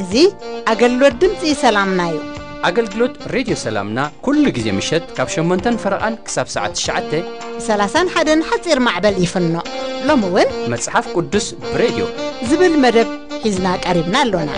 እዚ ኣገልግሎት ድምፂ ሰላምና እዩ። ኣገልግሎት ሬድዮ ሰላምና ኩሉ ግዜ ምሸት ካብ ሸሞንተን ፈረቓን ክሳብ ሰዓት ትሽዓተ። ብ ሰላሳን ሓደን ሓፂር ማዕበል ይፍኖ። ሎሚ እውን መጽሓፍ ቅዱስ ብሬድዮ ዝብል መደብ ሒዝና ቀሪብና ኣሎና።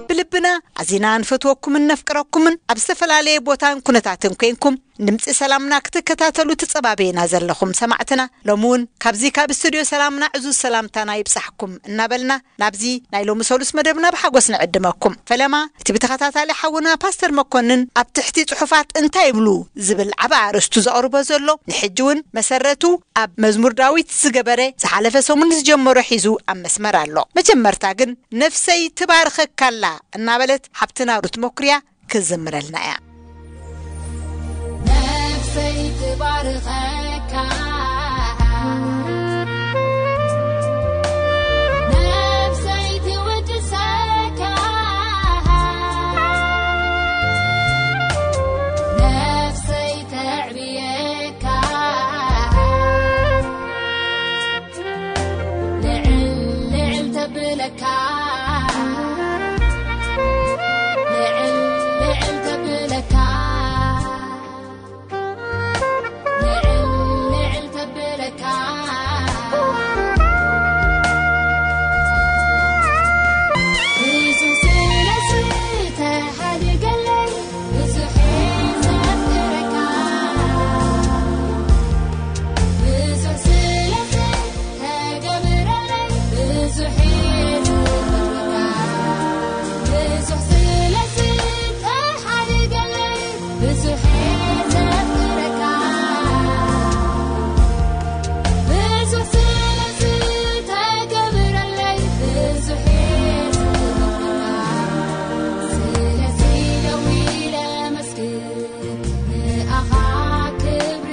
ብልብና ኣዚና ንፈትወኩምን ነፍቅረኩምን ኣብ ዝተፈላለየ ቦታን ኩነታትን ኮንኩም ድምፂ ሰላምና ክትከታተሉ ትጸባበየና ዘለኹም ሰማዕትና፣ ሎሚ እውን ካብዚ ካብ ስቱድዮ ሰላምና ዕዙዝ ሰላምታና ይብጻሕኩም እናበልና ናብዚ ናይ ሎሚ ሰሉስ መደብና ብሓጎስ ንዕድመኩም። ፈለማ እቲ ብተኸታታሊ ሓውና ፓስተር መኮንን ኣብ ትሕቲ ጽሑፋት እንታይ ይብሉ ዝብል ዓቢ ኣርእስቱ ዘቕርቦ ዘሎ፣ ንሕጂ እውን መሰረቱ ኣብ መዝሙር ዳዊት ዝገበረ ዝሓለፈ ሰሙን ዝጀመሮ ሒዙ ኣብ መስመር ኣሎ። መጀመርታ ግን ነፍሰይ ትባርኸካላ እናበለት ሓብትና ሩት መኩርያ ክዝምረልና እያ። ነፍሰይ ትባርኸካ፣ ነፍሰይ ትውድሰካ፣ ነፍሰይ ተዕብየካ፣ ልዕል ልዕል ተብለካ፣ ልዕል ልዕል ተብለካ፣ ልዕል ልዕል ተብለካ። ብዙሕ ስለ ዝተሓደገለይ፣ ብዙሕ ዘፍቅረካ፣ ብዙሕ ስለ ተገብረለይ ብዙሕ እየ ዘመስግነካ። ብዙሕ ስለ ዝተሓደገለይ ብዙሕ እየ ዘፍቅረካ። ብዙሕ ስለ ዝተገብረለይ ብዙሕ እየ ዘመስግነካ። ስለዚ ደው ኢለ መስግን ንኣኻ ክብሪ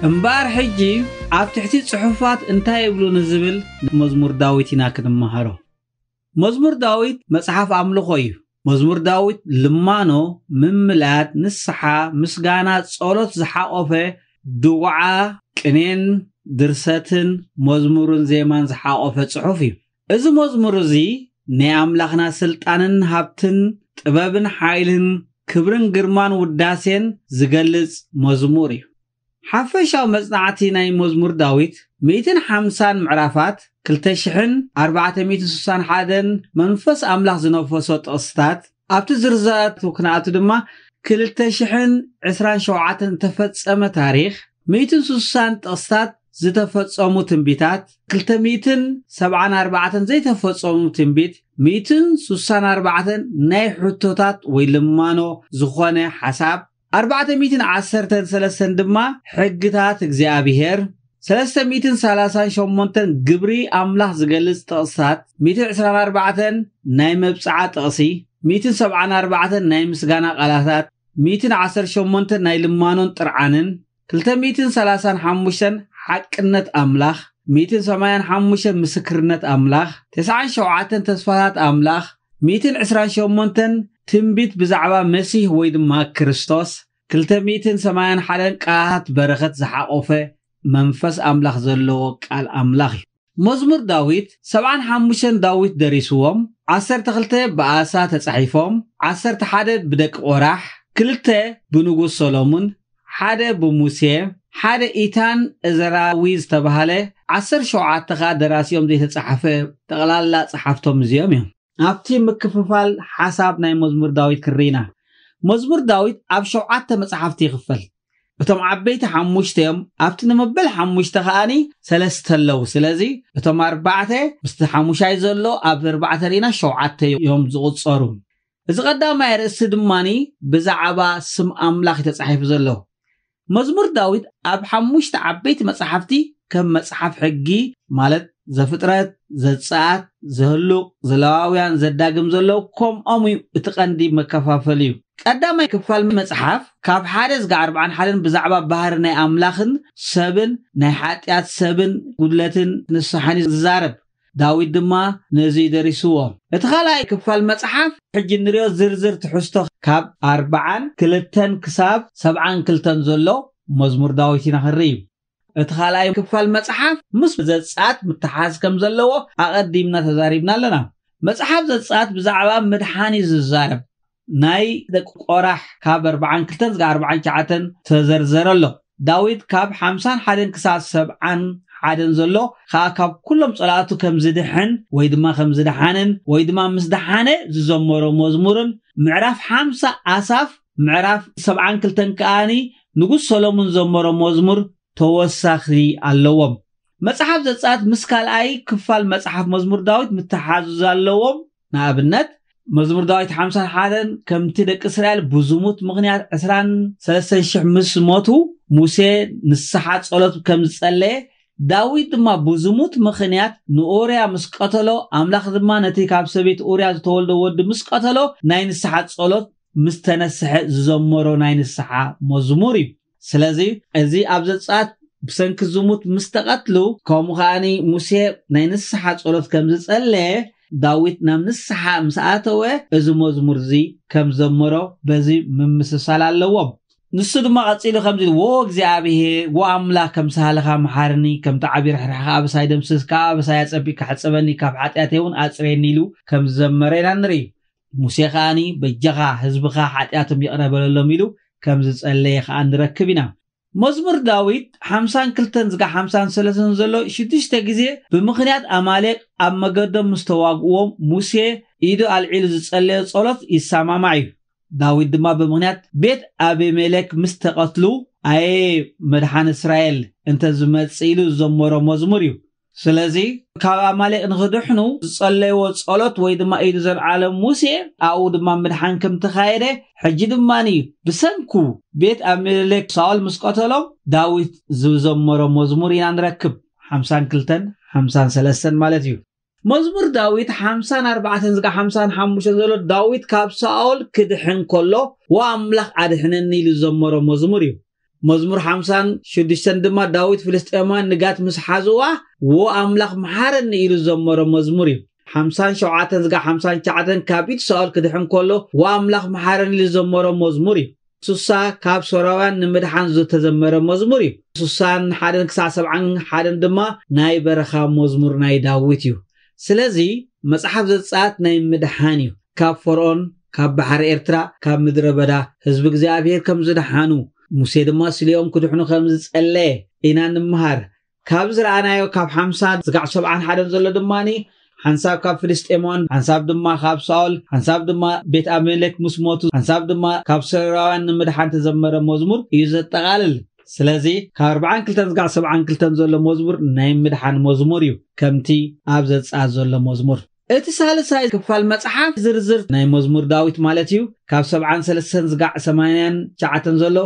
እምበኣር ሕጂ ኣብ ትሕቲ ጽሑፋት እንታይ ይብሉ ንዝብል መዝሙር ዳዊት ኢና ክንመሃሮ። መዝሙር ዳዊት መጽሓፍ ኣምልኾ እዩ። መዝሙር ዳዊት ልማኖ፣ ምምላድ፣ ንስሓ፣ ምስጋና፣ ጸሎት ዝሓቖፈ ድጉዓ፣ ቅኔን ድርሰትን መዝሙርን ዜማን ዝሓቖፈ ጽሑፍ እዩ። እዚ መዝሙር እዚ ናይ ኣምላኽና ስልጣንን ሃብትን ጥበብን ሓይልን ክብርን ግርማን ውዳሴን ዝገልጽ መዝሙር እዩ። ሓፈሻዊ መጽናዕቲ ናይ መዝሙር ዳዊት ሚእትን ሓምሳን ምዕራፋት፣ ክልተ ሽሕን ኣርባዕተ ሚእትን ስሳን ሓደን መንፈስ ኣምላኽ ዝነፈሶ ጥቕስታት፣ ኣብቲ ዝርዝራት ክንኣቱ ድማ ክልተ ሽሕን ዕስራን ሸውዓተን ዝተፈጸመ ታሪኽ፣ ሚእትን ስሳን ጥቕስታት ዝተፈጸሙ ትንቢታት፣ ክልተ ሚእትን ሰብዓን ኣርባዕተን ዘይተፈጸሙ ትንቢት፣ ሚእትን ስሳን ኣርባዕተን ናይ ሕቶታት ወይ ልማኖ ዝኾነ ሓሳብ፣ ኣርባዕተ ሚእትን ዓሰርተን ሰለስተን ድማ ሕግታት እግዚኣብሔር፣ ሰለስተ ሚእትን ሰላሳን ሸሞንተን ግብሪ ኣምላኽ ዝገልጽ ጥቕስታት፣ ሚእትን ዕስራን ኣርባዕተን ናይ መብጽዓ ጥቕሲ፣ ሚእትን ሰብዓን ኣርባዕተን ናይ ምስጋና ቃላታት፣ ሚእትን ዓሰርተ ሸሞንተን ናይ ልማኖን ጥርዓንን፣ ክልተ ሚእትን ሰላሳን ሓሙሽተን ሓቅነት ኣምላኽ፣ ሚእትን ሰማንያን ሓሙሽተን ምስክርነት ኣምላኽ፣ ተስዓን ሸውዓተን ተስፋታት ኣምላኽ፣ ሚእትን ዕስራን ሸሞንተን ትንቢት ብዛዕባ መሲህ ወይ ድማ ክርስቶስ፣ ክልተ ሚእትን ሰማንያን ሓደን ቃላት በረኸት ዝሓቖፈ መንፈስ ኣምላኽ ዘለዎ ቃል ኣምላኽ እዩ። መዝሙር ዳዊት፣ ሰብዓን ሓሙሽተን ዳዊት ደሪስዎም፣ ዓሰርተ ክልተ ብኣሳ ተጻሒፎም፣ ዓሰርተ ሓደ ብደቂ ቆራሕ፣ ክልተ ብንጉስ ሰሎሙን፣ ሓደ ብሙሴ፣ ሓደ ኢታን እዘራዊ ዝተባህለ፣ ዓሰርተ ሸውዓተ ከኣ ደራሲኦም ዘይተጻሕፈ፣ ጠቕላላ ጸሓፍቶም እዚኦም እዮም። ኣብቲ ምክፍፋል ሓሳብ ናይ መዝሙር ዳዊት ክርኢና፣ መዝሙር ዳዊት ኣብ ሸውዓተ መጽሓፍቲ ይኽፈል። እቶም ዓበይቲ ሓሙሽተ እዮም። ኣብቲ ንመበል ሓሙሽተ ከኣኒ ሰለስተ ኣለዉ። ስለዚ እቶም ኣርባዕተ ምስቲ ሓሙሻይ ዘሎ ኣብ ኣርባዕተ ርኢና ሸውዓተ እዮም ዝቑጸሩ። እዚ ቀዳማይ ርእሲ ድማኒ ብዛዕባ ስም ኣምላኽ እዩ ተጻሒፉ ዘሎ። መዝሙር ዳዊት ኣብ ሓሙሽተ ዓበይቲ መጻሕፍቲ ከም መጽሓፍ ሕጊ ማለት ዘፍጥረት፣ ዘጸኣት፣ ዘህሉቕ፣ ዘለዋውያን፣ ዘዳግም ዘለዉ ከምኦም እዩ። እቲ ቀንዲ መከፋፈል እዩ። ቀዳማይ ክፋል መጽሓፍ ካብ ሓደ ዝጋ ኣርባዓን ሓደን ብዛዕባ ባህሪ ናይ ኣምላኽን ሰብን ናይ ሓጢኣት ሰብን ጉድለትን ንስሓን እዩ ዝዛረብ። ዳዊት ድማ ነዚ እዩ ደሪስዎ። እቲ ካልኣይ ክፋል መጽሓፍ ሕጂ ንሪኦ ዝርዝር ትሕዝቶ ካብ ኣርባዓን ክልተን ክሳብ ሰብዓን ክልተን ዘሎ መዝሙር ዳዊት ኢና ክንርኢ። እቲ ካልኣይ ክፋል መጽሓፍ ምስ ዘጻት ምትሓዝ ከም ዘለዎ ኣቐዲምና ተዛሪብና ኣለና። መጽሓፍ ዘጻት ብዛዕባ ምድሓን እዩ ዝዛረብ። ናይ ደቂ ቆራሕ ካብ ኣርባዓን ክልተን ዝጋ ኣርባዓን ትሽዓተን ተዘርዘረ ኣሎ። ዳዊት ካብ ሓምሳን ሓደን ክሳብ ሰብዓን ሓደን ዘሎ ከኣ ካብ ኩሎም ጸላእቱ ከም ዝድሕን ወይ ድማ ከም ዝደሓንን ወይ ድማ ምስ ደሓነ ዝዘመሮ መዝሙርን ምዕራፍ ሓምሳ ኣሳፍ ምዕራፍ ሰብዓን ክልተን ከኣኒ ንጉስ ሰሎሞን ዘመሮ መዝሙር ተወሳኺ ኣለዎም። መጽሓፍ ዘጸኣት ምስ ካልኣይ ክፋል መጽሓፍ መዝሙር ዳዊት ምትሓዙ ኣለዎም። ንኣብነት መዝሙር ዳዊት ሓምሳን ሓደን ከምቲ ደቂ እስራኤል ብዝሙት ምኽንያት ዕስራን ሰለስተን ሽሕ ምስ ሞቱ ሙሴ ንስሓ ጸሎት ከም ዝጸለየ ዳዊት ድማ ብዝሙት ምኽንያት ንኡርያ ምስ ቀተሎ ኣምላኽ ድማ ነቲ ካብ ሰበይቲ ኡርያ ዝተወልደ ወዲ ምስ ቀተሎ ናይ ንስሓ ጸሎት ምስ ተነስሐ ዝዘመሮ ናይ ንስሓ መዝሙር እዩ። ስለዚ እዚ ኣብ ዘጸኣት ብሰንኪ ዝሙት ምስ ተቐትሉ ከምኡ ከኣኒ ሙሴ ናይ ንስሓ ጸሎት ከም ዝጸለየ ዳዊት ናብ ንስሓ ምስ ኣተወ እዚ መዝሙር እዚ ከም ዘመሮ በዚ ምምስሳል ኣለዎም። ንሱ ድማ ቀጺሉ ከምዚ ኢሉ፣ "ዎ እግዚኣብሄር፣ ዎ ኣምላኽ፣ ከም ሳህልኻ መሓርኒ፣ ከምቲ ዓቢ ርሕራሕኻ ኣበሳይ ደምስስ፣ ካብ ኣበሳይ ኣጸቢቕካ ሕጸበኒ፣ ካብ ሓጢኣተይ እውን ኣጽርየኒ" ኢሉ ከም ዝዘመረ ኢና ንርኢ። ሙሴ ከኣኒ በጃኻ ህዝብኻ ሓጢኣቶም ይቕረ በለሎም ኢሉ ከም ዝጸለየ ከኣ ንረክብ ኢና። መዝሙር ዳዊት ሓምሳን ክልተን ዝጋ ሓምሳን ሰለስተን ዘሎ ሽዱሽተ ግዜ ብምኽንያት ኣማሌቅ ኣብ መገዶም ምስ ተዋግእዎም ሙሴ ኢዱ ኣልዒሉ ዝጸለዮ ጸሎት ይሰማማዕ እዩ። ዳዊት ድማ ብምኽንያት ቤት ኣቤሜሌክ ምስ ተቐትሉ ኣየ መድሓን እስራኤል እንተ ዝመጽእ ኢሉ ዝዘመሮ መዝሙር እዩ። ስለዚ ካብ ኣማሌቅ ንኽድሕኑ ዝጸለይዎ ጸሎት ወይ ድማ ኢዱ ዘልዓለ ሙሴ ኣብኡ ድማ ምድሓን ከም ተኻየደ ሕጂ ድማኒ ብሰንኩ ቤት ኣቤሜሌክ ሳኦል ምስ ቀተሎም ዳዊት ዝዘመሮ መዝሙር ኢና ንረክብ። ሓምሳን ክልተን ሓምሳን ሰለስተን ማለት እዩ። መዝሙር ዳዊት ሓምሳን ኣርባዕተን ዝጋ ሓምሳን ሓሙሽተን ዘሎ ዳዊት ካብ ሳኦል ክድሕን ከሎ ዎ ኣምላኽ ኣድሕነኒ ኢሉ ዝዘመሮ መዝሙር እዩ። መዝሙር ሓምሳን ሽዱሽተን ድማ ዳዊት ፍልስጤማውያን ንጋት ምስ ሓዝዋ ዎ ኣምላኽ መሓረኒ ኢሉ ዝዘመሮ መዝሙር እዩ። ሓምሳን ሸውዓተን ዝጋ ሓምሳን ትሽዓተን ካብ ኢድ ሳኦል ክድሕን ከሎ ዎ ኣምላኽ መሓረኒ ኢሉ ዝዘመሮ መዝሙር እዩ። ሱሳ ካብ ሶራውያን ንምድሓን ዝተዘመረ መዝሙር እዩ። ሱሳን ሓደን ክሳዕ ሰብዓን ሓደን ድማ ናይ በረኻ መዝሙር ናይ ዳዊት እዩ። ስለዚ መጽሓፍ ዘጸኣት ናይ ምድሓን እዩ። ካብ ፈርኦን፣ ካብ ባሕሪ ኤርትራ፣ ካብ ምድረ በዳ ህዝቢ እግዚኣብሔር ከም ዝደሓኑ፣ ሙሴ ድማ ስሊኦም ክድሕኑ ከም ዝጸለየ ኢና ንምሃር። ካብ ዝረኣናዮ ካብ ሓምሳ ዝጋዕ ሰብዓን ሓደን ዘሎ ድማኒ ሓንሳብ ካብ ፍልስጤማውያን፣ ሓንሳብ ድማ ካብ ሳኦል፣ ሓንሳብ ድማ ቤት ኣቤሜሌክ ምስ ሞቱ፣ ሓንሳብ ድማ ካብ ሶርያውያን ንምድሓን ተዘመረ መዝሙር እዩ ዘጠቓልል። ስለዚ ካብ ኣርባዓን ክልተን ዝጋዕ ሰብዓን ክልተን ዘሎ መዝሙር ናይ ምድሓን መዝሙር እዩ፣ ከምቲ ኣብ ዘጸኣት ዘሎ መዝሙር። እቲ ሳልሳይ ክፋል መጽሓፍ ዝርዝር ናይ መዝሙር ዳዊት ማለት እዩ። ካብ ሰብዓን ሰለስተን ዝጋዕ ሰማንያን ትሽዓተን ዘሎ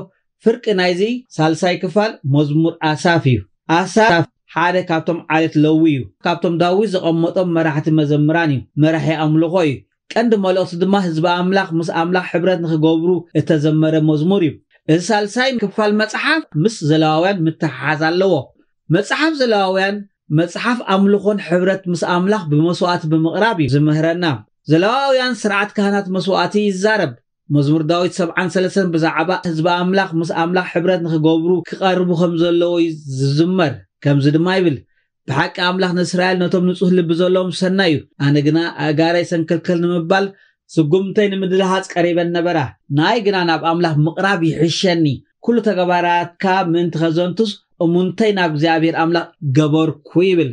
ፍርቂ ናይዚ ሳልሳይ ክፋል መዝሙር ኣሳፍ እዩ። ኣሳፍ ሓደ ካብቶም ዓሌት ለዊ እዩ። ካብቶም ዳዊት ዘቐመጦም መራሕቲ መዘምራን እዩ። መራሒ ኣምልኾ እዩ። ቀንዲ መልእኽቱ ድማ ህዝቢ ኣምላኽ ምስ ኣምላኽ ሕብረት ንኽገብሩ እተዘመረ መዝሙር እዩ። እዚ ሳልሳይ ክፋል መጽሓፍ ምስ ዘለዋውያን ምትሕሓዝ ኣለዎ። መጽሓፍ ዘለዋውያን መጽሓፍ ኣምልኾን ሕብረት ምስ ኣምላኽ ብመስዋዕቲ ብምቕራብ እዩ ዝምህረና። ዘለዋውያን ስርዓት ካህናት መስዋዕቲ ይዛረብ። መዝሙር ዳዊት ሰብዓን ሰለስተን ብዛዕባ ህዝቢ ኣምላኽ ምስ ኣምላኽ ሕብረት ንኽገብሩ ክቐርቡ ከም ዘለዎ እዩ ዝዝመር። ከምዚ ድማ ይብል፣ "ብሓቂ ኣምላኽ ንእስራኤል ነቶም ንጹህ ልቢ ዘለዎም ሰናይ እዩ። ኣነ ግና ኣእጋረይ ሰንከልከል ንምባል ስጉምተይ ንምድልሃጽ ቀሪበን ነበራ። ንኣይ ግና ናብ ኣምላኽ ምቕራብ ይሕሸኒ። ኩሉ ተግባራትካ ምእንቲ ከዘንቱስ እሙንተይ ናብ እግዚኣብሔር ኣምላኽ ገበርኩ" ይብል።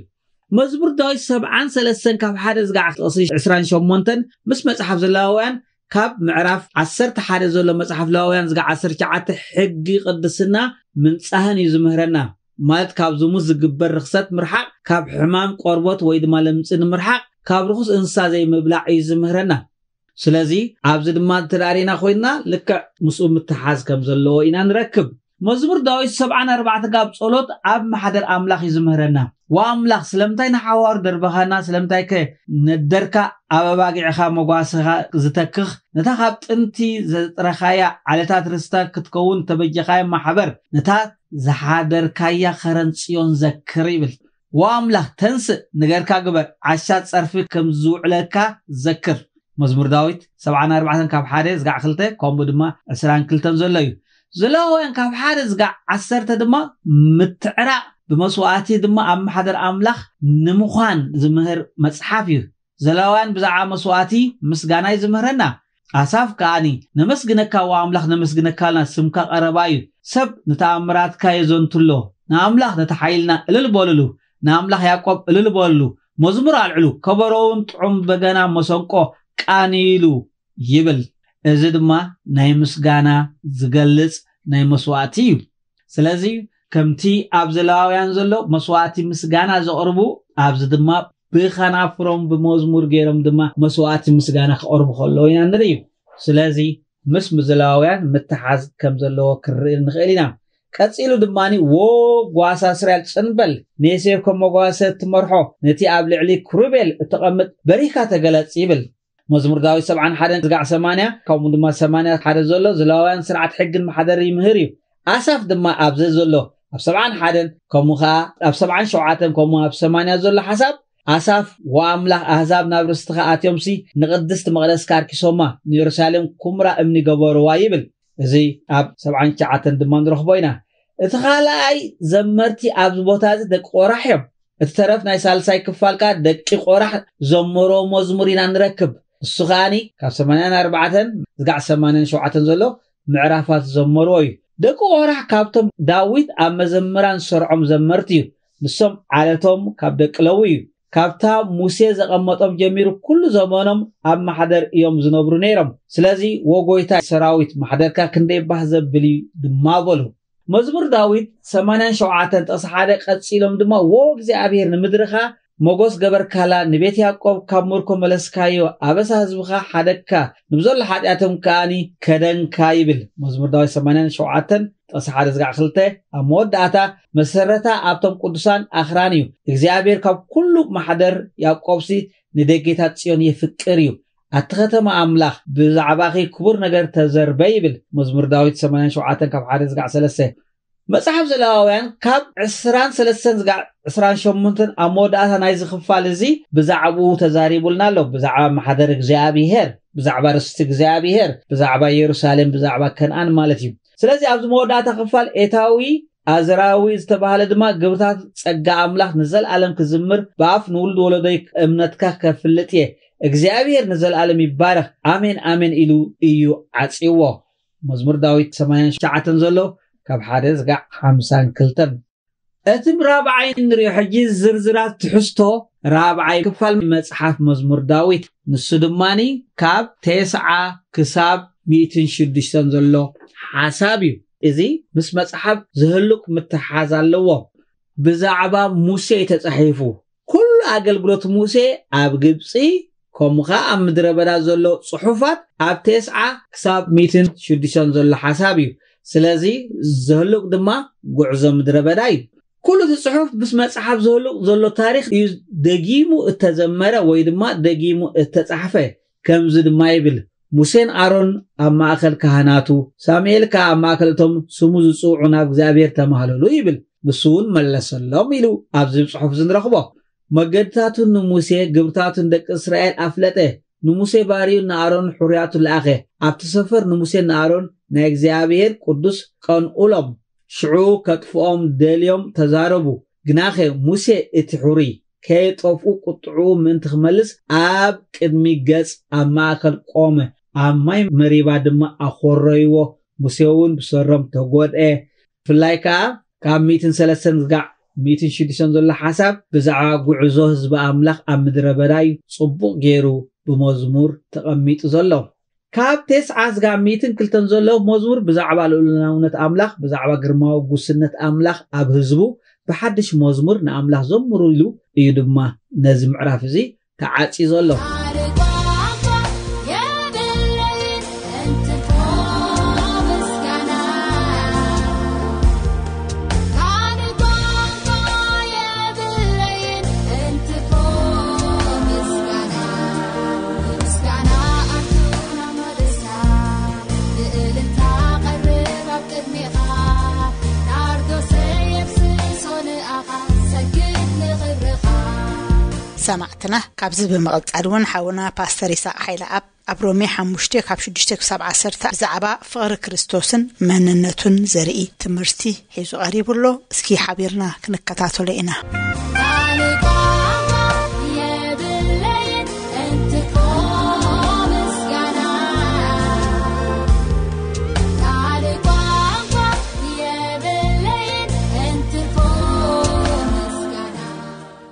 መዝሙር ዳዊት ሰብዓን ሰለስተን ካብ ሓደ ዝጋዕ ጥቕሲ ዕስራን ሸሞንተን ምስ መጽሓፍ ዘለዋውያን ካብ ምዕራፍ ዓሰርተ ሓደ ዘሎ መጽሓፍ ሌዋውያን ዝጋ ዓሰርተ ትሽዓተ ሕጊ ቅድስና ምንጻህን እዩ ዝምህረና። ማለት ካብ ዝሙት ዝግበር ርኽሰት ምርሓቕ፣ ካብ ሕማም ቆርቦት ወይ ድማ ለምጺ ንምርሓቕ፣ ካብ ርኹስ እንስሳ ዘይምብላዕ እዩ ዝምህረና። ስለዚ ኣብዚ ድማ እንተ ደኣ ርኢና ኮይንና ልክዕ ምስኡ ምትሓዝ ከም ዘለዎ ኢና ንረክብ። መዝሙር ዳዊት ሰብዓን ኣርባዕተን ካብ ጸሎት ኣብ ማሕደር ኣምላኽ እዩ ዝምህረና። ዋ ኣምላኽ፣ ስለምንታይ ንሓዋሩ ደርበኻና? ስለምንታይ ከ ነደርካ ኣብ ኣባጊዕኻ መጓሰኻ ዝተክኽ? ነታ ካብ ጥንቲ ዘጥረኻያ ዓለታት ርስታ ክትከውን ተበጀኻያ ማሕበር፣ ነታ ዝሓደርካያ ኸረን ጽዮን ዘክር ይብል። ዋ ኣምላኽ፣ ተንስእ፣ ንገርካ ግበር፣ ዓሻ ጸርፊ ከም ዝውዕለካ ዘክር። መዝሙር ዳዊት ሰብዓን ኣርባዕተን ካብ ሓደ ዝጋዕ ክልተ፣ ከምኡ ድማ ዕስራን ክልተን ዘሎ እዩ። ዘለዋውያን ካብ ሓደ ዝጋዕ ዓሰርተ ድማ ምትዕራቕ ብመስዋእቲ ድማ ኣብ ማሕደር ኣምላኽ ንምዃን ዝምህር መጽሓፍ እዩ። ዘለዋውያን ብዛዕባ መስዋእቲ ምስጋና እዩ ዝምህረና። ኣሳፍ ከኣኒ፣ ነመስግነካ ዋ ኣምላኽ፣ ነመስግነካ ኣልና፣ ስምካ ቀረባ እዩ። ሰብ ንተኣምራትካ የዘንቱ ኣሎ። ንኣምላኽ ነቲ ሓይልና እልል በልሉ፣ ንኣምላኽ ያዕቆብ እልል በልሉ፣ መዝሙር ኣልዕሉ፣ ከበሮውን ጥዑም በገና መሰንቆ ቃንይሉ ይብል። እዚ ድማ ናይ ምስጋና ዝገልጽ ናይ መስዋእቲ እዩ። ስለዚ ከምቲ ኣብ ዘለዋውያን ዘሎ መስዋእቲ ምስጋና ዘቕርቡ፣ ኣብዚ ድማ ብኸናፍሮም ብመዝሙር ገይሮም ድማ መስዋእቲ ምስጋና ክቐርቡ ከለዉ ኢና ንርኢ። ስለዚ ምስ ዘለዋውያን ምትሓዝ ከም ዘለዎ ክንርኢ ንኽእል ኢና። ቀጺሉ ድማ፣ "ዎ ጓሳ እስራኤል ጽን በል፣ ንዮሴፍ ከም መጓሰ እትመርሖ፣ ነቲ ኣብ ልዕሊ ክሩቤል እተቐምጥ በሪህካ ተገለጽ" ይብል። መዝሙር ዳዊት ሰብዓን ሓደን ዝጋዕ ሰማንያ፣ ከምኡ ድማ ሰማንያ ሓደ ዘሎ ዘለዋውያን ስርዓት ሕግን ማሕደር ይምህር እዩ። ኣሳፍ ድማ ኣብዚ ዘሎ ኣብ ሰብዓን ሓደን፣ ከምኡ ኸኣ ኣብ ሰብዓን ሸውዓተን፣ ከምኡ ኣብ ሰማንያ ዘሎ ሓሳብ፣ ኣሳፍ፣ "ወኣምላኽ፣ ኣህዛብ ናብ ርስትኻ ኣትዮምሲ፣ ንቕድስቲ መቕደስካ ኣርኪሶማ፣ ንየሩሳሌም ኩምራ እምኒ ገበርዋ" ይብል። እዚ ኣብ ሰብዓን ትሽዓተን ድማ ንረኽቦ ኢና። እቲ ካልኣይ ዘመርቲ ኣብዚ ቦታ እዚ ደቂ ቆራሕ እዮም። እቲ ተረፍ ናይ ሳልሳይ ክፋል ከኣ ደቂ ቆራሕ ዘመሮ መዝሙር ኢና ንረክብ። እሱ ከኣኒ ካብ ሰማንያን ኣርባዕተን ዝጋዕ ሰማንያን ሸውዓተን ዘሎ ምዕራፋት ዘመርዎ እዩ። ደቂ ቆራሕ ካብቶም ዳዊት ኣብ መዘምራን ዝሰርዖም ዘመርቲ እዩ። ንሶም ዓለቶም ካብ ደቂ ለዊ እዩ። ካብታ ሙሴ ዘቐመጦም ጀሚሩ ኩሉ ዘመኖም ኣብ ማሕደር እዮም ዝነብሩ ነይሮም። ስለዚ "ወ ጎይታ ሰራዊት፣ ማሕደርካ ክንደይ ባህ ዘብል እዩ" ድማ በሉ። መዝሙር ዳዊት ሰማንያን ሸውዓተን ጥቕሲ ሓደ ቀጺሎም ድማ፣ "ወ እግዚኣብሔር፣ ንምድርኻ ሞጎስ ገበርካላ፣ ንቤት ያዕቆብ ካብ ምርኮ መለስካዮ፣ ኣበሳ ህዝብኻ ሓደግካ፣ ንብዘሎ ሓጢኣቶም ከኣኒ ከደንካ" ይብል። መዝሙር ዳዊት ሰማንያን ሸውዓተን ጥቕሲ ሓደ ዝጋዕ ክልተ፣ ኣብ መወዳእታ፣ "መሰረታ ኣብቶም ቅዱሳን ኣኽራን እዩ፣ እግዚኣብሔር ካብ ኩሉ ማሕደር ያዕቆብሲ ንደጌታት ጽዮን የፍቅር እዩ። ኣቲ ኸተማ ኣምላኽ፣ ብዛዕባኺ ክቡር ነገር ተዘርበ" ይብል። መዝሙር ዳዊት ሰማንያን ሸውዓተን ካብ ሓደ ዝጋዕ ሰለስተ። መጽሓፍ ዘለዋውያን ካብ ዕስራን ሰለስተን ዝጋዕ ዕስራን ሸሞንተን ኣብ መወዳእታ ናይዚ ክፋል እዚ ብዛዕባኡ ተዛሪቡልና ኣሎ። ብዛዕባ ማሕደር እግዚኣብሔር፣ ብዛዕባ ርስቲ እግዚኣብሔር፣ ብዛዕባ የሩሳሌም፣ ብዛዕባ ከነኣን ማለት እዩ። ስለዚ ኣብዚ መወዳእታ ክፋል ኤታዊ ኣዝራዊ ዝተባህለ ድማ፣ "ግብርታት ጸጋ ኣምላኽ ንዘለኣለም ክዝምር፣ ብኣፍ ንውሉድ ወለዶይ እምነትካ ከፍልጥ እየ። እግዚኣብሔር ንዘለኣለም ይባረኽ፣ ኣሜን ኣሜን" ኢሉ እዩ ዓጽይዎ። መዝሙር ዳዊት ሰማንያን ትሽዓተን ዘሎ ካብ ሓደ ዝጋዕ ሓምሳን ክልተን። እቲ ራብዓይ ንሪኦ ሕጂ ዝርዝራት ትሕዝቶ ራብዓይ ክፋል መጽሓፍ መዝሙር ዳዊት፣ ንሱ ድማኒ ካብ ተስዓ ክሳብ ሚእትን ሽዱሽተን ዘሎ ሓሳብ እዩ። እዚ ምስ መጽሓፍ ዝህሉቅ ምትሓዝ ኣለዎ። ብዛዕባ ሙሴ እዩ ተጻሒፉ። ኩሉ ኣገልግሎት ሙሴ ኣብ ግብጺ፣ ከምኡ ኸኣ ኣብ ምድረ በዳ ዘሎ ጽሑፋት ኣብ ተስዓ ክሳብ ሚእትን ሽዱሽተን ዘሎ ሓሳብ እዩ። ስለዚ ዝህሉቅ ድማ ጉዕዞ ምድረ በዳ እዩ። ኩሉ እቲ ጽሑፍ ምስ መጽሓፍ ዝህሉቅ ዘሎ ታሪኽ እዩ ደጊሙ እተዘመረ ወይ ድማ ደጊሙ እተጻሕፈ። ከምዚ ድማ ይብል፣ "ሙሴን ኣሮን ኣብ ማእከል ካህናቱ፣ ሳሙኤል ከኣ ኣብ ማእከል እቶም ስሙ ዝጽውዑ ናብ እግዚኣብሔር ተማህለሉ" ይብል። ንሱ እውን መለሰሎም ኢሉ ኣብዚ ጽሑፍ እዚ ንረኽቦ። መገድታቱን ንሙሴ ግብርታቱን ደቂ እስራኤል ኣፍለጠ። ንሙሴ ባርዩ ንኣሮን ሕሩያቱ ለኣኸ። ኣብቲ ሰፈር ንሙሴን ንኣሮን ናይ እግዚኣብሔር ቅዱስ ቀንኡሎም። ሽዑ ከጥፍኦም ደልዮም ተዛረቡ። ግናኸ ሙሴ እቲ ሕሩይ ከየጠፍኡ ቁጥዕኡ ምእንቲ ክመልስ ኣብ ቅድሚ ገጽ ኣብ ማእከል ቆመ። ኣብ ማይ መሪባ ድማ ኣኾረይዎ። ሙሴ እውን ብሰሮም ተጎድኤ። ብፍላይ ከኣ ካብ ሚእትን ሰለስተን ዝጋዕ ሚእትን ሽዱሽተን ዘሎ ሓሳብ ብዛዕባ ጉዕዞ ህዝቢ ኣምላኽ ኣብ ምድረ በዳ እዩ ጽቡቕ ገይሩ ብመዝሙር ተቐሚጡ ዘሎ። ካብ ተስዓ ስጋብ ሚእትን ክልተን ዘሎ መዝሙር ብዛዕባ ልኡላውነት ኣምላኽ፣ ብዛዕባ ግርማዊ ጉስነት ኣምላኽ ኣብ ህዝቡ ብሓድሽ መዝሙር ንኣምላኽ ዘምሩ ኢሉ እዩ ድማ ነዚ ምዕራፍ እዚ ተዓጽዩ ዘሎ። ሰማዕትና፣ ካብዚ ብምቕጻል እውን ሓውና ፓስተር ይስሐቅ ሓይለኣብ ኣብ ሮሜ ሓሙሽተ ካብ ሽዱሽተ ክሳብ ዓሰርተ ብዛዕባ ፍቕሪ ክርስቶስን መንነቱን ዘርኢ ትምህርቲ ሒዙ ቀሪቡ ኣሎ። እስኪ ሓቢርና ክንከታተሎ ኢና።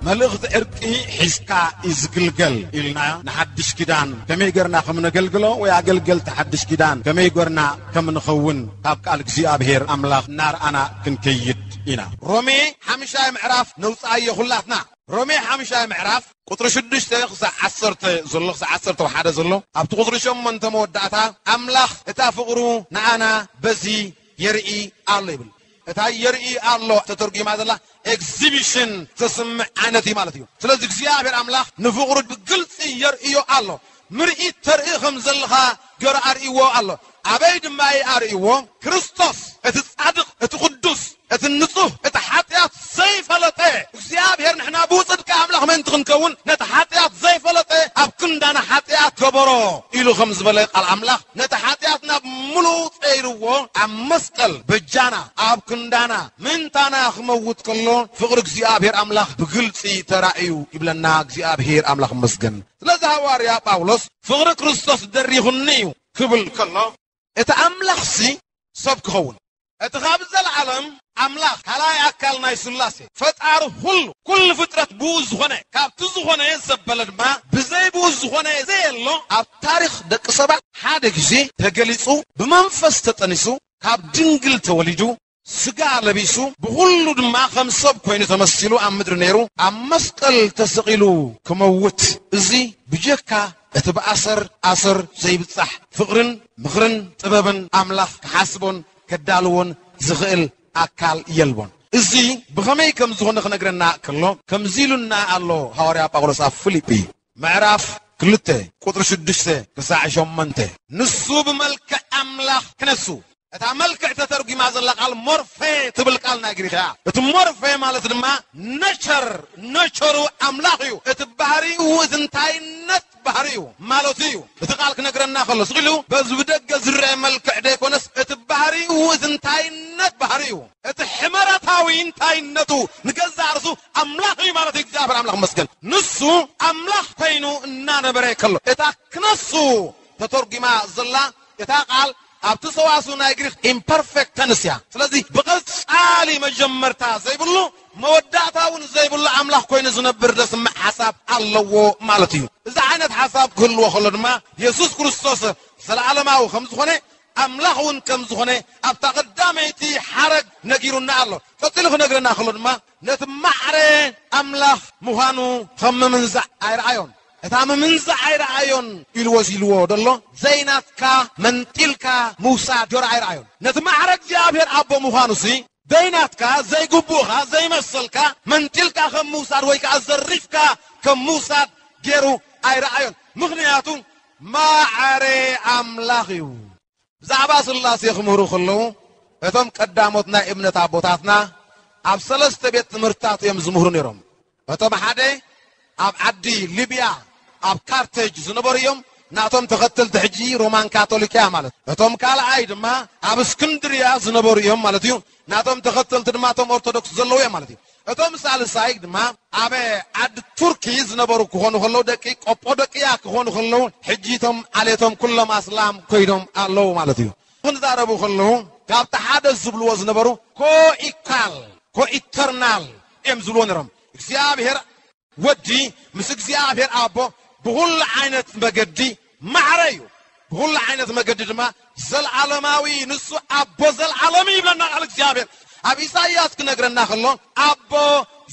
መልእኽቲ ዕርቂ ሒዝካ እዩ ዝግልገል ኢልና ንሓድሽ ኪዳን ከመይ ገርና ከም ነገልግሎ ወይ ኣገልገልቲ ሓድሽ ኪዳን ከመይ ገርና ከም ንኸውን ካብ ቃል እግዚኣብሔር ኣምላኽ እናርኣና ክንከይድ ኢና። ሮሜ ሓምሻይ ምዕራፍ ነውፅኣዮ ኩላትና። ሮሜ ሓምሻይ ምዕራፍ ቁፅሪ ሽዱሽተ ክሳዕ ዓሰርተ ዘሎ፣ ክሳዕ ዓሰርተ ሓደ ዘሎ፣ ኣብቲ ቁፅሪ ሸሞንተ መወዳእታ ኣምላኽ እታ ፍቕሩ ንኣና በዚ የርኢ ኣሎ ይብል። እታ የርኢ ኣሎ ተተርጒማ ዘላ ኤግዚቢሽን ዘስምዕ ዓይነት እዩ ማለት እዩ። ስለዚ እግዚኣብሔር ኣምላኽ ንፍቕሩ ብግልፂ የርእዮ ኣሎ። ምርኢት ተርኢ ከም ዘለኻ ገሩ ኣርእይዎ ኣሎ። ኣበይ ድማ እዩ ኣርእይዎ? ክርስቶስ እቲ ጻድቕ፣ እቲ ቅዱስ፣ እቲ ንጹህ፣ እቲ ሓጢኣት ዘይፈለጠ እግዚኣብሔር ንሕና ብኡ ጽድቂ ኣምላኽ ምእንቲ ክንከውን ነቲ ሓጢኣት ዘይፈለጠ ኣብ ክንዳና ሓጢኣት ገበሮ ኢሉ ከም ዝበለ ቃል ኣምላኽ ነቲ ሓጢኣትና ብምሉኡ ጸይርዎ ኣብ መስቀል በጃና ኣብ ክንዳና ምእንታና ክመውት ከሎ ፍቕሪ እግዚኣብሔር ኣምላኽ ብግልጺ ተራእዩ ይብለና። እግዚኣብሔር ኣምላኽ ይመስገን። ስለዚ ሃዋርያ ጳውሎስ ፍቕሪ ክርስቶስ ደሪኹኒ እዩ ክብል ከሎ እቲ ኣምላኽሲ ሰብ ክኸውን እቲ ካብ ዘለዓለም ኣምላኽ ካልኣይ ኣካል ናይ ስላሴ ፈጣሪ ኩሉ ኩሉ ፍጥረት ብኡ ዝኾነ ካብቲ ዝኾነ ዘበለ ድማ ብዘይ ብኡ ዝኾነ ዘየሎ ኣብ ታሪኽ ደቂ ሰባት ሓደ ግዜ ተገሊጹ ብመንፈስ ተጠኒሱ ካብ ድንግል ተወሊዱ ስጋ ለቢሱ ብኹሉ ድማ ከም ሰብ ኮይኑ ተመሲሉ ኣብ ምድሪ ነይሩ ኣብ መስቀል ተሰቒሉ ክመውት እዚ ብጀካ እቲ ብኣሰር ኣሰር ዘይብጻሕ ፍቕርን ምኽርን ጥበብን ኣምላኽ ክሓስቦን ከዳልዎን ዝኽእል ኣካል የልቦን። እዚ ብኸመይ ከም ዝኾነ ክነግረና ከሎ ከምዚ ኢሉና ኣሎ ሃዋርያ ጳውሎስ ኣብ ፊልጲ ምዕራፍ ክልተ ቁጥሪ ሽዱሽተ ክሳዕ ሸሞንተ ንሱ ብመልክዕ ኣምላኽ ክነሱ እታ መልክዕ ተተርጒማ ዘላ ቃል ሞርፌ ትብል ቃል ናይ ግሪኽ እያ። እቲ ሞርፌ ማለት ድማ ነቸር ነቸሩ ኣምላኽ እዩ። እቲ ባህሪኡ እቲ እንታይነት ባህሪኡ ማለቱ እዩ። እቲ ቃል ክነግረና ከሎ ስቕ ኢሉ በዚ ብደገ ዝረአ መልክዕ ደይኮነስ እቲ ባህሪኡ እቲ እንታይነት ባህሪኡ እቲ ሕመረታዊ እንታይነቱ ንገዛእ ርእሱ ኣምላኽ እዩ ማለት እዩ። እግዚኣብሔር ኣምላኽ መስገን ንሱ ኣምላኽ ኮይኑ እናነበረ ከሎ እታ ክነሱ ተተርጒማ ዘላ እታ ቃል ኣብቲ ሰዋስው ናይ ግሪክ ኢምፐርፌክት ተንስ እያ። ስለዚ ብቐጻሊ መጀመርታ ዘይብሉ መወዳእታ እውን ዘይብሉ ኣምላኽ ኮይኑ ዝነብር ዘስምዕ ሓሳብ ኣለዎ ማለት እዩ። እዚ ዓይነት ሓሳብ ክህልዎ ከሎ ድማ የሱስ ክርስቶስ ዘለዓለማዊ ከም ዝኾነ ኣምላኽ እውን ከም ዝኾነ ኣብታ ቀዳመይቲ ሓረግ ነጊሩና ኣሎ። ቀጺሉ ክነግረና ከሎ ድማ ነቲ ማዕረ ኣምላኽ ምዃኑ ከም ምምንዛዕ ኣይረኣዮን። እታ ምምንዛዕ ኣይረኣዮን ኢልዎ ኢልዎ ደሎ ዘይናትካ መንጢልካ ምውሳድ ጆሮ ኣይረኣዮን። ነቲ ማዕረ እግዚኣብሔር ኣቦ ምዃኑሲ ዘይናትካ ዘይግቡእኻ ዘይመሰልካ መንጢልካ ከም ምውሳድ ወይ ከዓ ዘሪፍካ ከም ምውሳድ ገይሩ ኣይረኣዮን። ምኽንያቱ ማዕረ ኣምላኽ እዩ። ብዛዕባ ስላሴ ክምህሩ ከለዉ እቶም ቀዳሞት ናይ እምነት ኣቦታትና ኣብ ሰለስተ ቤት ትምህርትታት እዮም ዝምህሩ ነይሮም። እቶም ሓደ ኣብ ዓዲ ሊብያ ኣብ ካርቴጅ ዝነበሩ እዮም። ናቶም ተኸተልቲ ሕጂ ሮማን ካቶሊክ እያ ማለት። እቶም ካልኣይ ድማ ኣብ እስክንድርያ ዝነበሩ እዮም ማለት እዩ። ናቶም ተኸተልቲ ድማ እቶም ኦርቶዶክስ ዘለዉ እዮም ማለት እዩ። እቶም ሳልሳይ ድማ ኣብ ዓዲ ቱርኪ ዝነበሩ ክኾኑ ከለዉ ደቂ ቆጶዶቅያ ክኾኑ ከለዉ ሕጂ እቶም ዓሌቶም ኩሎም ኣስላም ኮይኖም ኣለዉ ማለት እዩ። ክንዛረቡ ከለዉ ካብቲ ሓደ ዝብልዎ ዝነበሩ ኮኢካል ኮኢተርናል እዮም ዝብልዎ ነይሮም። እግዚኣብሔር ወዲ ምስ እግዚኣብሔር ኣቦ ብኹሉ ዓይነት መገዲ ማዕረ እዩ። ብኹሉ ዓይነት መገዲ ድማ ዘለዓለማዊ እዩ። ንሱ ኣቦ ዘለዓለም እዩ ይብለና ቃል እግዚኣብሔር። ኣብ ኢሳይያስ ክነግረና ከሎ ኣቦ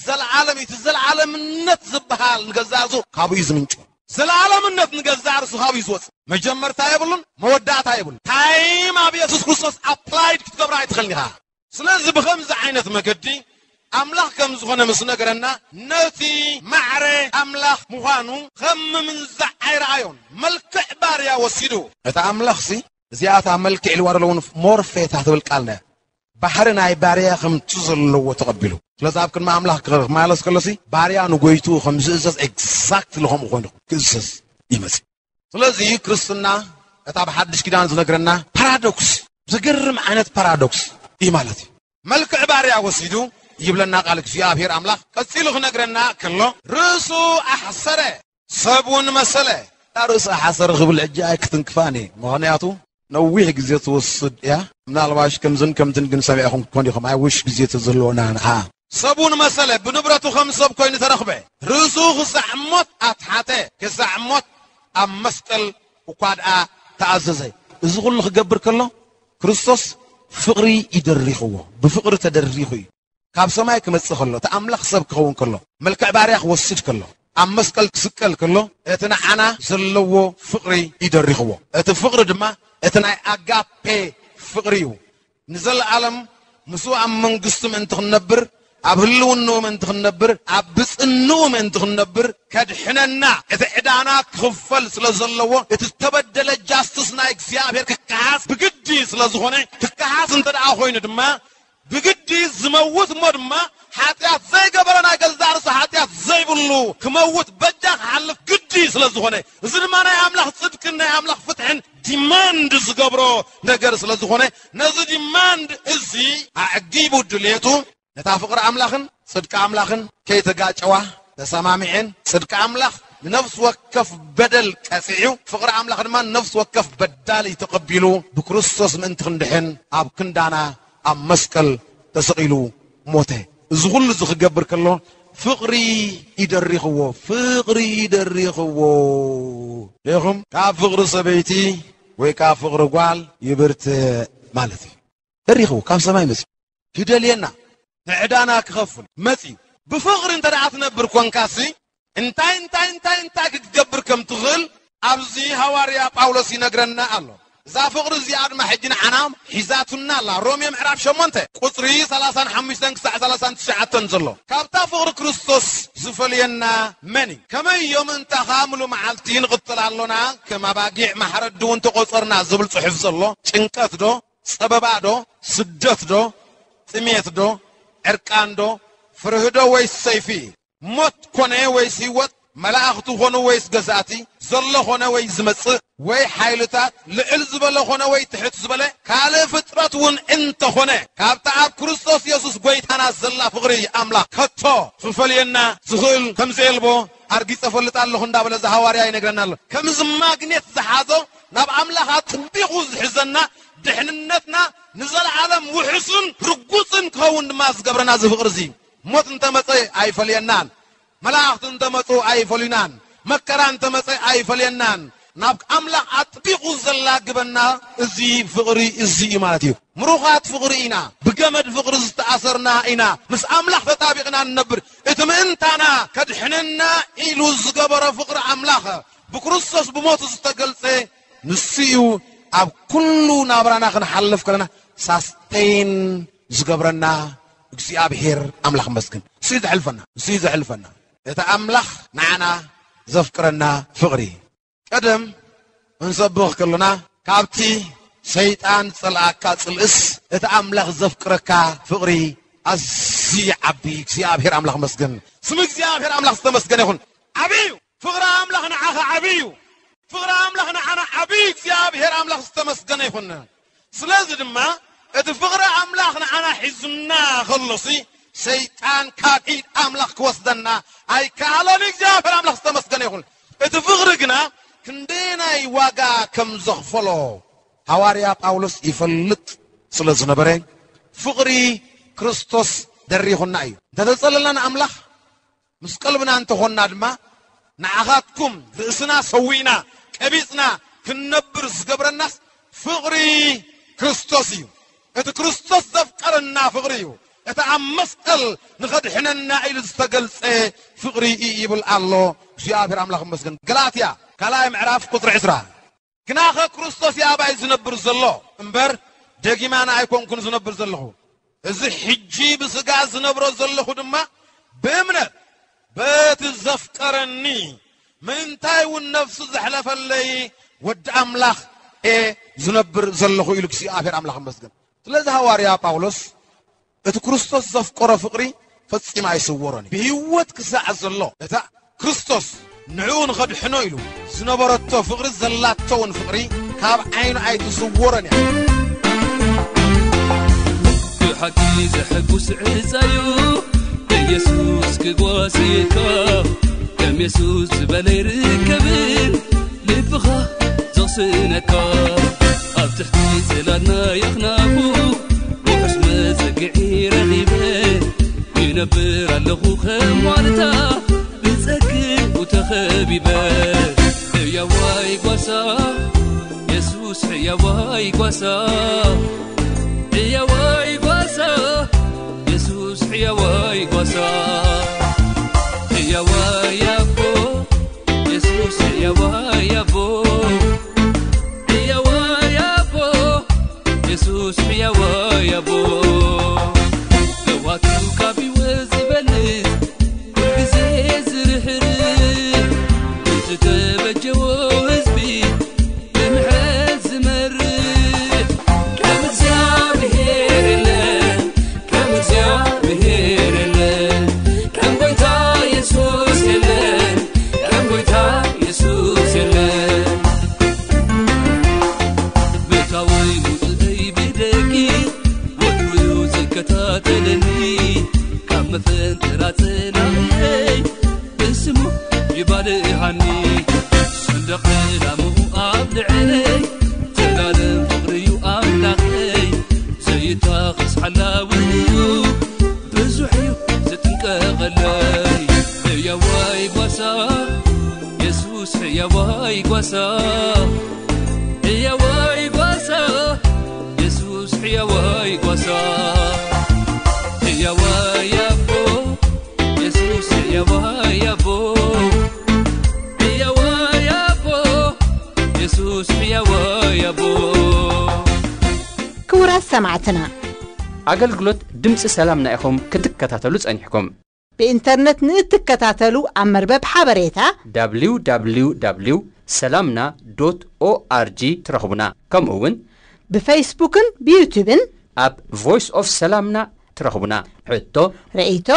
ዘለዓለም እዩ። እቲ ዘለዓለምነት ዝበሃል ንገዛእ ርእሱ ካብኡ እዩ ዝምንጩ። ዘለዓለምነት ንገዛእ ርእሱ ካብኡ እዩ ዝወፅእ። መጀመርታ የብሉን፣ መወዳእታ የብሉን። ታይም ኣብ የሱስ ክርስቶስ ኣፕላይድ ክትገብራ ኣይትኽእልን ኢኻ። ስለዚ ብኸምዚ ዓይነት መገዲ ኣምላኽ ከም ዝኾነ ምስ ነገረና፣ ነቲ ማዕረ ኣምላኽ ምዃኑ ከም ምምንዛዕ ኣይረኣዮን። መልክዕ ባርያ ወሲዱ። እቲ ኣምላኽሲ እዚኣታ መልክዕ ኢልዋ ዘለውን ሞርፌታ ትብል ቃል ነያ። ባህሪ ናይ ባርያ ከምቲ ዘለዎ ተቐቢሉ። ስለዚ ኣብ ቅድሚ ኣምላኽ ክማለስ ከሎሲ ባርያ ንጎይቱ ከም ዝእዘዝ ኤግዛክትሊ ከምኡ ኮይኑ ክእዘዝ ይመጽእ። ስለዚ ክርስትና እታ ብሓድሽ ኪዳን ዝነግረና ፓራዶክስ፣ ዘገርም ዓይነት ፓራዶክስ እዩ ማለት እዩ። መልክዕ ባርያ ወሲዱ ይብለና ቃል እግዚኣብሔር ኣምላኽ። ቀጺሉ ክነግረና ከሎ ርእሱ ኣሕሰረ፣ ሰብ እውን መሰለ። ርእሱ ኣሕሰረ ክብል ሕጂ ኣይክትንክፋን እየ። ምኽንያቱ ነዊሕ ግዜ ትወስድ እያ። ምናልባሽ ከምዝን ከምትን ግን ሰሚዕኹም ክኾን ኢኹም። ኣይውሽ ግዜ ተዝህልወና ንዓ። ሰብ እውን መሰለ፣ ብንብረቱ ከም ሰብ ኮይኑ ተረኽበ። ርእሱ ክሳዕ ሞት ኣትሓተ፣ ክሳዕ ሞት ኣብ መስቀል እኳ ደኣ ተኣዘዘ። እዚ ኩሉ ክገብር ከሎ ክርስቶስ ፍቕሪ ይደሪኽዎ። ብፍቕሪ ተደሪኹ እዩ። ካብ ሰማይ ክመጽእ ከሎ፣ እቲ ኣምላኽ ሰብ ክኸውን ከሎ፣ መልክዕ ባርያ ክወስድ ከሎ፣ ኣብ መስቀል ክስቀል ከሎ፣ እቲ ንዓና ዘለዎ ፍቕሪ ይደሪኽዎ። እቲ ፍቕሪ ድማ እቲ ናይ ኣጋፔ ፍቕሪ እዩ። ንዘለኣለም ምስኡ ኣብ መንግስቱ ምእንቲ ክንነብር፣ ኣብ ህልውንኡ ምእንቲ ክንነብር፣ ኣብ ብጽንኡ ምእንቲ ክንነብር፣ ከድሕነና፣ እቲ ዕዳና ክኽፈል ስለ ዘለዎ፣ እቲ ዝተበደለ ጃስትስ ናይ እግዚኣብሔር ክከሓስ ብግዲ ስለ ዝኾነ፣ ክከሓስ እንተ ደኣ ኮይኑ ድማ፣ ብግዲ ዝመውት እሞ ድማ ሓጢኣት ዘይገበረ ናይ ገዛእ ርእሱ ሓጢኣት ዘይብሉ ክመውት በጃ ክሓልፍ ግዲ ስለ ዝኾነ፣ እዚ ድማ ናይ ኣምላኽ ጽድቅን ናይ ኣምላኽ ፍትሕን ዲማንድ ዝገብሮ ነገር ስለ ዝኾነ፣ ነዚ ዲማንድ እዚ ኣዕጊቡ ድሌቱ ነታ ፍቕሪ ኣምላኽን ጽድቂ ኣምላኽን ከይተጋጨዋ ተሰማሚዐን፣ ጽድቂ ኣምላኽ ንነፍሲ ወከፍ በደል ቀጺዑ፣ ፍቕሪ ኣምላኽ ድማ ንነፍሲ ወከፍ በዳሊ ተቐቢሉ፣ ብክርስቶስ ምእንቲ ክንድሕን ኣብ ክንዳና ኣብ መስቀል ተሰቒሉ ሞተ። እዚ ኩሉ እዚ ክገብር ከሎ ፍቕሪ ይደሪኽዎ፣ ፍቕሪ ይደሪኽዎ። ርኢኹም? ካብ ፍቕሪ ሰበይቲ ወይ ካብ ፍቕሪ ጓል ይብርትዕ ማለት እዩ። ደሪኽዎ፣ ካብ ሰማይ መጺኡ ክደልየና፣ ንዕዳና ክኸፍል መጺኡ። ብፍቕሪ እንተ ደኣ ትነብር ኮንካሲ፣ እንታይ፣ እንታይ፣ እንታይ፣ እንታይ ክትገብር ከም ትኽእል ኣብዚ ሃዋርያ ጳውሎስ ይነግረና ኣሎ። እዛ ፍቕሪ እዚኣ ድማ ሕጂ ንዓና ሒዛቱና ኣላ። ሮሜ ምዕራፍ ሸሞንተ ቁጽሪ ሰላሳን ሓሙሽተን ክሳዕ ሰላሳን ትሽዓተን ዘሎ። ካብታ ፍቕሪ ክርስቶስ ዝፈልየና መን እዩ? ከመይ እዮም እንተ ኻብ ምሉ መዓልቲ ንቕጽል ኣሎና፣ ከም ኣባጊዕ ማሕረዲ እውን ተቖጸርና ዝብል ጽሑፍ ዘሎ ጭንቀት ዶ? ጸበባ ዶ? ስደት ዶ? ጥሜት ዶ? ዕርቃን ዶ? ፍርሂ ዶ ወይስ ሰይፊ? ሞት ኮነ ወይስ ህይወት? መላእኽቲ ኮኑ ወይስ ገዛእቲ? ዘሎ ኮነ ወይ ዝመጽእ? ወይ ሓይልታት? ልዕል ዝበለ ኮነ ወይ ትሕት ዝበለ? ካልእ ፍጥረት እውን እንተኾነ፣ ካብታ ኣብ ክርስቶስ የሱስ ጐይታና ዘላ ፍቕሪ ኣምላኽ ከቶ ክፈልየና ዝኽእል ከም ዘየልቦ ኣርጊጸ እፈልጥ ኣለኹ እንዳበለ እዚ ሃዋርያ ይነግረና ኣሎ። ከምዚ ማግኔት ዝሓዞ ናብ ኣምላኽ ኣጥቢቑ ዝሕዘና ድሕንነትና ንዘለዓለም ውሑስን ርጉጽን ክኸውን ድማ ዝገብረና እዚ ፍቕሪ እዚ። ሞት እንተመጸ ኣይፈልየናን፣ መላእኽቲ እንተመጹ ኣይፈልዩናን፣ መከራ እንተመጸ ኣይፈልየናን። ናብ ኣምላኽ ኣጥቢቑ ዘላግበና እዚ ፍቕሪ እዚ እዩ ማለት እዩ። ምሩኻት ፍቕሪ ኢና፣ ብገመድ ፍቕሪ ዝተኣሰርና ኢና፣ ምስ ኣምላኽ ተጣቢቕና ንነብር። እቲ ምእንታና ከድሕነና ኢሉ ዝገበሮ ፍቕሪ ኣምላኽ ብክርስቶስ ብሞቱ ዝተገልጸ ንሱ እዩ። ኣብ ኩሉ ናብራና ክንሓልፍ ከለና ሳስተይን ዝገብረና እግዚኣብሔር ኣምላኽ መስግን። ንሱ እዩ ዘሕልፈና፣ ንሱ እዩ ዘሕልፈና። እቲ ኣምላኽ ንዓና ዘፍቅረና ፍቕሪ። ቀደም ክንሰብኽ ከለና ካብቲ ሰይጣን ዝጸልኣካ ጽልእስ እቲ ኣምላኽ ዘፍቅረካ ፍቕሪ ኣዝዩ ይዓቢ። እግዚኣብሔር ኣምላኽ መስግን። ስም እግዚኣብሔር ኣምላኽ ዝተመስገነ ይኹን። ዓቢ እዩ። ፍቕሪ ኣምላኽ ንዓኻ ዓቢ እዩ። ፍቕሪ ኣምላኽ ንዓና ዓቢ እዩ። እግዚኣብሔር ኣምላኽ ዝተመስገነ ይኹን። ስለዚ ድማ እቲ ፍቕሪ ኣምላኽ ንዓና ሒዙና ከሎሲ ሰይጣን ካብ ኢድ ኣምላኽ ክወስደና ኣይከኣለን። እግዚኣብሔር ኣምላኽ ዝተመስገነ ይኹን። እቲ ፍቕሪ ግና ክንደየናይ ዋጋ ከም ዘኽፈሎ ሃዋርያ ጳውሎስ ይፈልጥ ስለ ዝነበረ ፍቕሪ ክርስቶስ ደሪኹና እዩ። እንተተጸለልና ንኣምላኽ ምስ ቀልብና እንተኾንና ድማ ንዓኻትኩም ርእስና ሰዊእና፣ ቀቢጽና፣ ክንነብር ዝገብረናስ ፍቕሪ ክርስቶስ እዩ። እቲ ክርስቶስ ዘፍቀረና ፍቕሪ እዩ። እቲ ኣብ መስቀል ንኸድሕነና ኢሉ ዝተገልጸ ፍቕሪ እዩ ይብል ኣሎ። እግዚኣብሔር ኣምላኽ ይመስገን። ገላትያ ካልኣይ ምዕራፍ ቁጽሪ ዕስራ። ግናኸ ክርስቶስ እዩ ኣባይ ዝነብር ዘሎ እምበር፣ ደጊም ኣነ ኣይኮንኩን ዝነብር ዘለኹ። እዚ ሕጂ ብስጋ ዝነብሮ ዘለኹ ድማ ብእምነት በቲ ዘፍቀረኒ፣ ምእንታይ እውን ነፍሱ ዘሕለፈለይ ወዲ ኣምላኽ እየ ዝነብር ዘለኹ ኢሉ እግዚኣብሔር ኣምላኽ ይመስገን። ስለዚ ሃዋርያ ጳውሎስ እቲ ክርስቶስ ዘፍቀሮ ፍቕሪ ፈጺሙ ኣይስወሮን እዩ። ብህይወት ክሳዕ ዘሎ እታ ክርስቶስ ንዕኡ ንኸድሕኖ ኢሉ ዝነበረቶ ፍቕሪ፣ ዘላቶ እውን ፍቕሪ ካብ ዓይኑ ኣይትስወሮን እያ። ብሓቂ ዘሐጉስ ዕጻዩ ኢየሱስ ክጓስየካ፣ ከም የሱስ ዝበለ ይርከብን ልብኻ ዘቕስነካ። ኣብ ትሕቲ ጽላል ናይ ኣኽናፉ ውሑስ መጸግዒ ረኺበ፣ ይነብር ኣለኹ ከም ዋልታ ብጸግኡ ተኸቢበ። ሕያዋይ ጓሳ የሱስ፣ ሕያዋይ ጓሳ፣ ሕያዋይ ጓሳ የሱስ፣ ሕያዋይ ጓሳ፣ ሕያዋይ ኣቦ የሱስ፣ ሕያዋይ ኣቦ፣ ሕያዋይ ኣቦ የሱስ፣ ሕያዋይ ኣቦ። ለዋቱ ካብ ህይወት ዝበልጽ፣ ኩልግዜ ዝርህርህ፣ ንዝተበጀዎ ህዝቢ ብምሕረት ዝመርሕ፣ ከም እግዚኣብሔር የለን፣ ከም እግዚኣብሔር የለን፣ ከም ጎይታ የሱስ የለን፣ ከም ጎይታ የሱስ የለን። ምእታወይ ውፅእይ ብደጊ ወትሩ እዩ ዝከታተለኒ፣ ካብ መፈንጠራ ጽላእየይ ብስሙ ይባልሃኒ። ሰንደቕ ዕላምኡ ኣብ ልዕለይ፣ ዘላለም ፍቕሪ እዩ ኣምላኸይ፣ ዘይታኸስ ሓላዊ እዩ፣ ብዙሕ እዩ ዝጥንቀቐለይ። ሕያዋይ ጓሳ የሱስ፣ ሕያዋይ ጓሳ፣ ሕያዋይ ጓሳ የሱስ፣ ሕያዋይ ጓሳ፣ ሕያዋይ ኣቦ የሱስ፣ ሕያዋይ ኣቦ፣ ሕያዋይ ኣቦ የሱስ፣ ሕያዋይ ኣቦ። ክቡራት ሰማዕትና፣ ኣገልግሎት ድምፂ ሰላምና ኢኹም ክትከታተሉ ጸኒሕኩም። ብኢንተርነት ንእትከታተሉ ኣብ መርበብ ሓበሬታ www ሰላምና ዶት ኦኣርጂ ትረኽቡና። ከምኡ እውን ብፌስቡክን ብዩቱብን ኣብ ቮይስ ኦፍ ሰላምና ትረኽቡና። ሕቶ ርእይቶ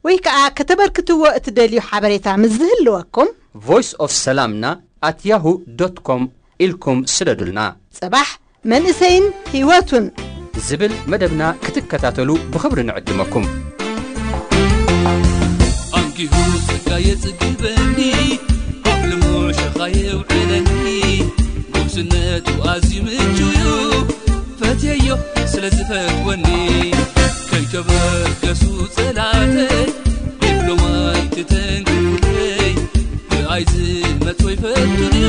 ወይ ከዓ ከተበርክትዎ እትደልዩ ሓበሬታ ምስ ዝህልወኩም ቮይስ ኦፍ ሰላምና ኣት ያሁ ዶት ኮም ኢልኩም ስደዱልና። ጽባሕ መንእሰይን ህይወቱን ዝብል መደብና ክትከታተሉ ብኽብሪ ንዕድመኩም። ኣንጊሁ ጸጋ የጽግበኒ፣ ኣብ ልሙዕ ሸኻ የውዕለኒ፣ ጉብዝነቱ ኣዝዩ ምቹ እዩ፣ ፈትየዮ ስለ ዝፈትወኒ። ከይተበገሱ ጸላእተይ፣ ዲፕሎማይ ትተንክፉለይ፣ ብኣይ ዝመጾ ይፈቱን እዩ፣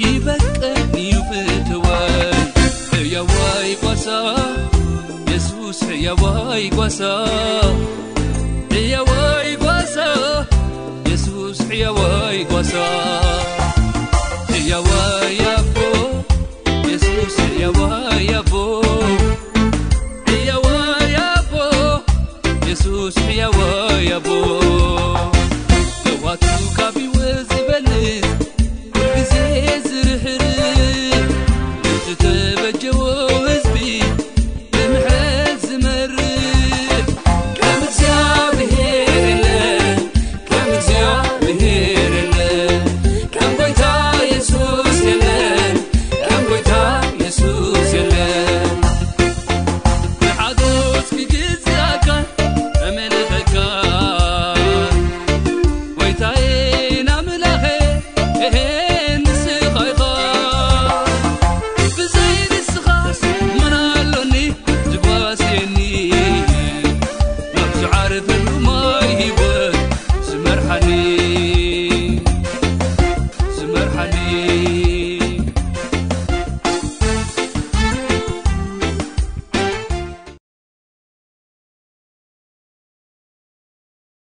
ይበቀኒ እዩ ፍትወይ። ሕያዋይ ጓሳ የሱስ፣ ሕያዋይ ጓሳ፣ ሕያዋይ ጓሳ የሱስ፣ ሕያዋይ ጓሳ፣ ሕያዋይ